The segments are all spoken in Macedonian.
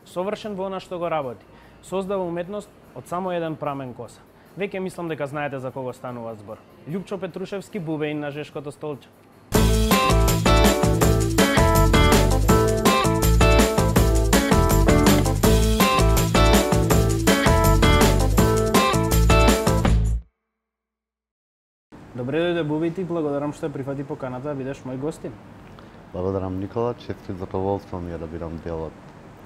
совршен во она што го работи. Создава уметност од само еден прамен коса. Веќе мислам дека знаете за кого станува збор. Љупчо Петрушевски, бубеин на Жешкото столче. Добре дојде, Буби, ти благодарам што ја прифати поканата да бидеш мој гостин. Благодарам, Никола, чест и задоволство ми е да бидам дел од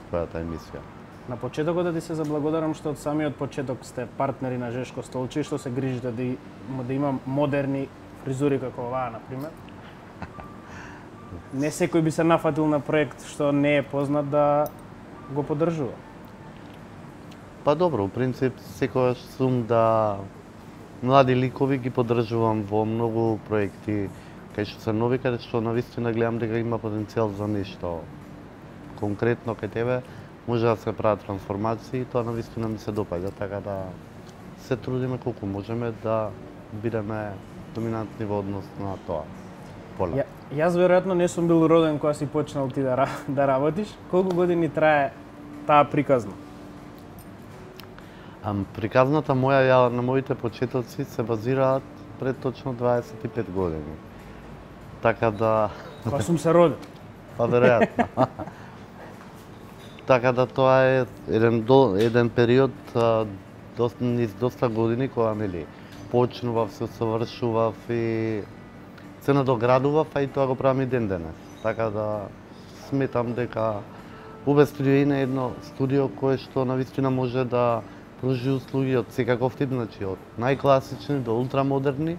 твојата емисија. На почетокот да ти се заблагодарам што од самиот почеток сте партнери на Жешко столче и што се грижите да има модерни фризури како оваа, например. Не секој би се нафатил на проект што не е познат да го поддржува. Па добро, у принцип секогаш сум да млади ликови ги поддржувам во многу проекти кај што се нови, каде што навистина гледам дека има потенцијал за нешто. Конкретно кај тебе може да се прават трансформации и тоа навистина ми се допаѓа, така да се трудиме колку можеме да бидеме доминантни во однос на тоа поле. Јас веројатно не сум бил роден кога си почнал ти да работиш. Колку години трае таа приказна? Приказната моја на моите почетоци се базираат пред точно 25 години. Така да... Кога сум се родил? Па веројатно. Така да тоа е еден период низ доста години кога нели почнував, се усовршував и се надоградував, а и тоа го правам и ден денес. Така да сметам дека УБ студио е едно студио кое што навистина може да пружи услуги од секаков тип, значи од најкласични до ултрамодерни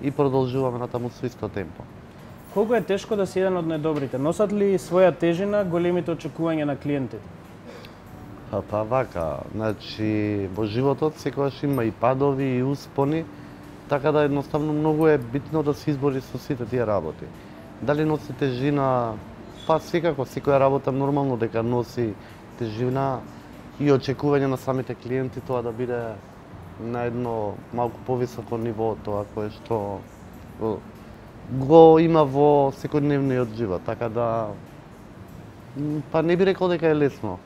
и продолжуваме натаму со исто темпо. Колку е тешко да си еден од најдобрите? Носат ли своја тежина големите очекувања на клиентите? Па вака, значи во животот секогаш има и падови и успони, така да едноставно многу е битно да се избори со сите тие работи. Дали носи тежина? Па секако, секоја работа нормално дека носи тежина и очекување на самите клиенти тоа да биде на едно малку повисоко ниво тоа кое што го има во секојдневниот живот, така да па не би рекол дека е лесно.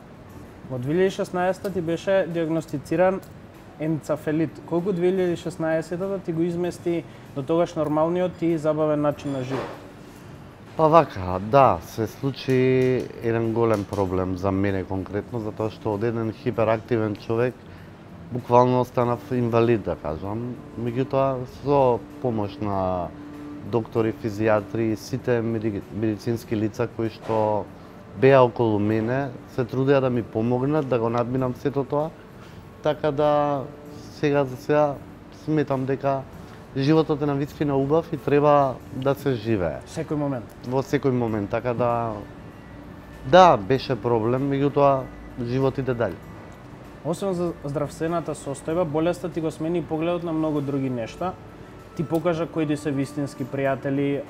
Во 2016 ти беше диагностициран енцефалит. Колку 2016 ти го измести до тогаш нормалниот и забавен начин на живот? Па вака, да, се случи еден голем проблем за мене конкретно, затоа што од еден хиперактивен човек буквално останав инвалид, да кажам. Меѓутоа, со помош на доктори, физијатри и сите медицински лица кои што беа околу мене, се трудеа да ми помогнат да го надминам сето тоа, така да сега за сега сметам дека животот е навистина убав и треба да се живее. Секој момент. Во секој момент, така да, беше проблем, меѓутоа живот иде дале. Освен за здравствената состојба, болеста ти го смени погледот на многу други нешта. Ти покажа кои ти се вистински пријатели.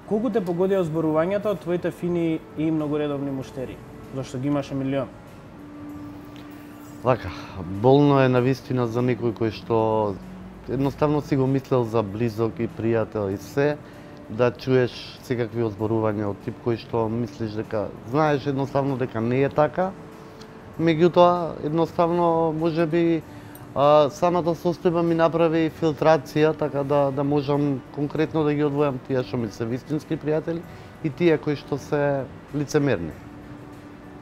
Колку те погодија зборувањата од твоите фини и многу редовни муштери? Зашто ги имаше милион. Вака, болно е навистина за некој кој што едноставно си го мислел за близок и пријател и се, да чуеш секакви озборувања од тип кој што мислиш дека знаеш едноставно дека не е така. Меѓутоа, едноставно можеби самата состојба ми направи филтрација, така да можам конкретно да ги одвојам тие што ми се вистински пријатели и тие кои што се лицемерни.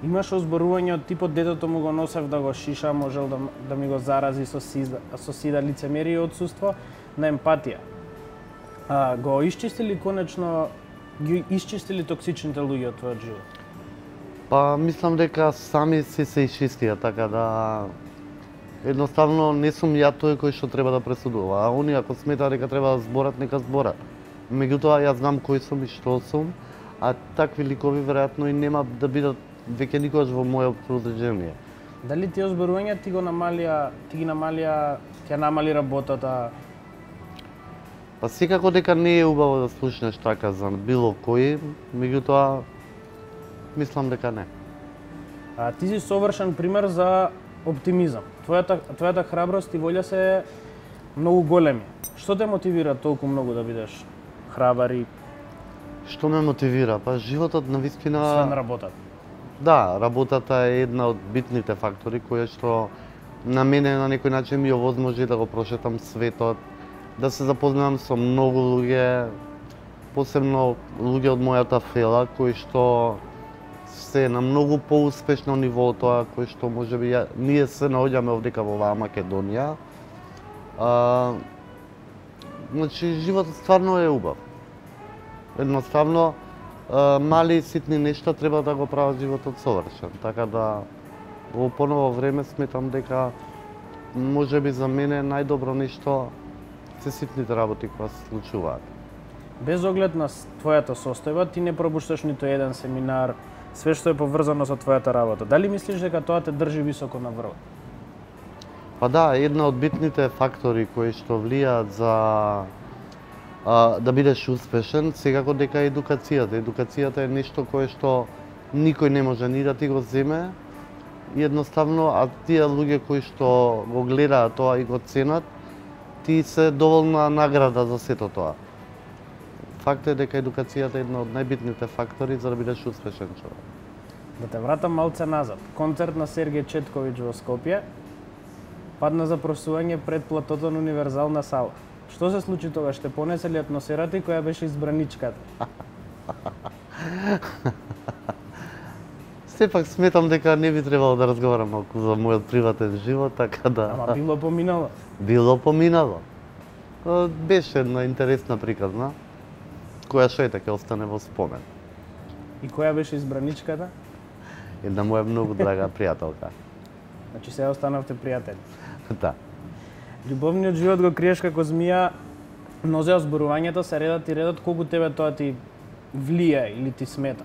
Имаш озборување од типот детето му го носев да го шиша, можел да ми го зарази со сида лицемерие и отсуство на емпатија. Го исчистили конечно, ги исчистили токсичните луѓе од твојот живот? Па мислам дека сами се исчистија, така да едноставно не сум ја тој кој што треба да пресудува, а они ако сметаат дека треба да зборат, нека зборат. Меѓутоа јас знам кој сум и што сум, а такви ликови веројатно и нема да бидат веќе никогаш во мојот окружение. Дали тие озборувања ти ги намали работата? Па секако дека не е убаво да слушнеш така за било кој, меѓутоа мислам дека не. Ти си совршен пример за оптимизам. Твојата храброст и волја се многу големи. Што те мотивира толку многу да бидеш храбар и... Што ме мотивира? Па животот навистина... Освен работата. Да, работата е една од битните фактори која што на мене на некој начин ми овозможи да го прошетам светот, да се запознавам со многу луѓе, посебно луѓе од мојата фела кои што се на многу поуспешно ниво од тоа кој што можеби ние се наоѓаме овдека во оваа Македонија. Значи животот стварно е убав. Едноставно мали и ситни нешта треба да го прават животот совршен. Така да во поново време сметам дека можеби за мене најдобро нешто се ситните работи кои се случуваат. Без оглед на твојата состојба, ти не пропушташ ниту еден семинар, све што е поврзано со твојата работа. Дали мислиш дека тоа те држи високо на врвот? Па да, една од битните фактори кои што влијаат за да бидеш успешен, секако дека е едукацијата. Едукацијата е нешто кое што никој не може ни да ти го земе. Едноставно, а тие луѓе кои што го гледаат тоа и го ценат, ти се доволна награда за сето тоа. Факт е дека едукацијата е една од најбитните фактори за да бидеш успешен човек. Да те вратам малце назад. Концерт на Сергеј Четковиќ во Скопје падна за просување пред Платотон Универзална сала. Што се случи тогаш? Те понесе ли атмосферата и која беше избраничката? Сепак сметам дека не би требало да разговарам малку за мојот приватен живот, така да... Ама било поминало? Било поминало. Беше една интересна приказна, која што ете ќе остане во спомен. И која беше избраничката? Една моја многу драга пријателка. Значи се останавте пријатели. Да. Љубовниот живот го криеш како змија, но за зборувањето се редат и редат, колку тебе тоа ти влија или ти смета?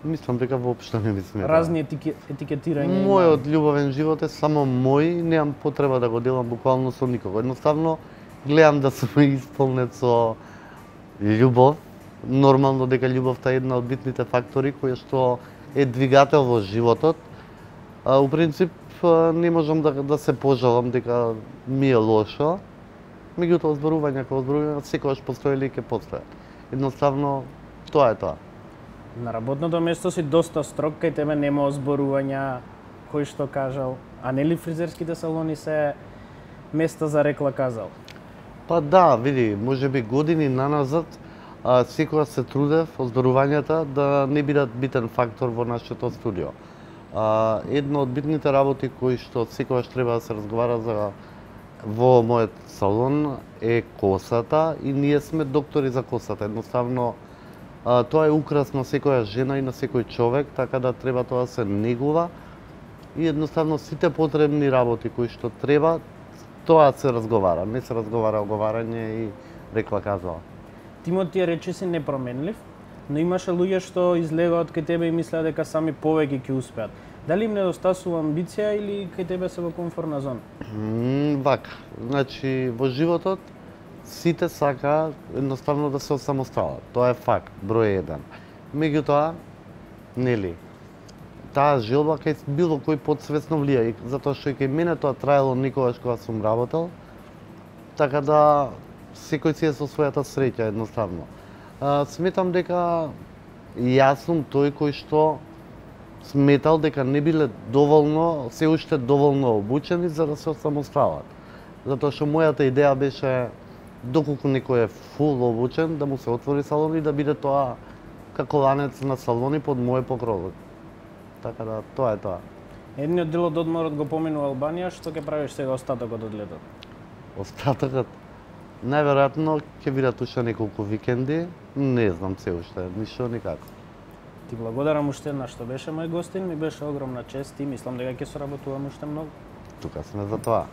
Мислам дека воопшто не ми смета. Разни етикетирања. Мојот љубовен живот е само мој, немам потреба да го делам буквално со никого. Едноставно гледам да сум исполнет со љубов. Нормално дека љубовта е една од битните фактори која што е двигател во животот. У принцип не можам да се пожалам дека ми е лошо. Меѓутоа зборувања како зборувања секогаш постоеле и ќе постојат. Едноставно тоа е тоа. На работното место си доста строг, кај тебе нема озборувања, кој што кажал, а нели фризерските салони се места за рекла казал? Па да, види, можеби години наназад секогаш се трудев озборувањата да не бидат битен фактор во нашето студио. Една од битните работи кои што секогаш треба да се разговара за во мојот салон е косата и ние сме доктори за косата. Едноставно тоа е украс на секоја жена и на секој човек, така да треба тоа да се негува и едноставно сите потребни работи кои што треба, тоа се разговара. Не се разговара оговарање и рекла казала. Тимот ти рече си непроменлив, но имаше луѓе што излегаат кај тебе и мислеа дека сами повеќе ќе успеат. Дали им недостасува амбиција или кај тебе се во комфортна зона? Вака, значи во животот сите сакаат едноставно да се осамосталат. Тоа е факт, број 1. Меѓутоа, нели, таа желба кај било кој подсвесно влија, затоа што и кај мене тоа траело никогаш кога сум работел, така да секој си е со својата среќа едноставно. Сметам дека јас сум тој кој што сметал дека не биле доволно, се уште доволно обучени за да се осамосталат. Затоа што мојата идеја беше доколку некој е фул обучен, да му се отвори салон и да биде тоа како ланец на салони под мој покров. Така да, тоа е тоа. Едниот дел од одморот го поминува Албанија, што ќе правиш сега остатокот од летот? Остатокот? Најверојатно ќе бидат уште неколку викенди, не знам се уште, ништо никако. Ти благодарам уште една што беше мој гостин, ми беше огромна чест и мислам дека ќе соработуваме уште многу. Тука сме за тоа.